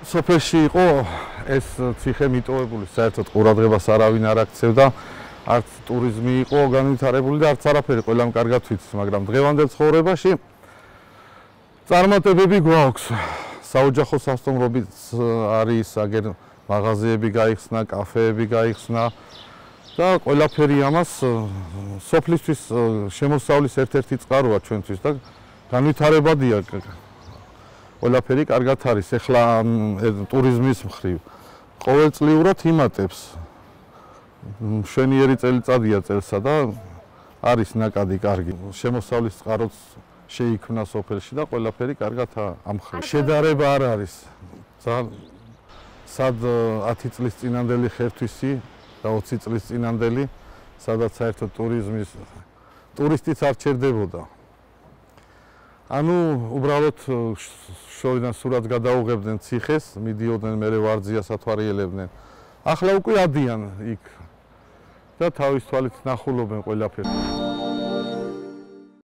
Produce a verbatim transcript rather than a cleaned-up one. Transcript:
სოფელში იყო ეს ციხე მიტოვებული, საერთოდ ყურადღებას არავინ არ აქცევდა, არც ტურიზმი იყო განვითარებული და არც არაფერი, ყველამ კარგად ვიცის, მაგრამ დღევანდელ ცხოვრებაში წარმატებები გვაქვს. საოჯახო სასტუმროებიც არის, აგერ მაღაზიები გაიხსნა, კაფეები გაიხსნა და ყველაფერი ამას სოფლისთვის შემოსავლის ერთ-ერთი წყაროა ჩვენთვის და განვითარებადია. ყველაფერი კარგად არის. ეხლა ტურიზმის მხრივ ყოველწლიურად იმატებს. მშვენიერი წელიწადია წელსა და არის ნაკადი კარგი. შემოსავლის წყაროც შეიქმნა სოფელში და ყველაფერი კარგად ამხრივ. შედარება არ არის. ძალიან სად ათი წლის წინანდელი ხერთვისი და ოცი წლის წინანდელი, სადაც საერთოდ ტურიზმის ტურისტიც არ ჩერდებოდა. ანუ უბრალოდ შორიდან სურათს გადაუღებდნენ ციხეს, მიდიოდნენ მერე ვარძიას ათვალიერებდნენ. ახლა უკვე ადიან იქ და თავის თვალით ნახულობენ ყველაფერს.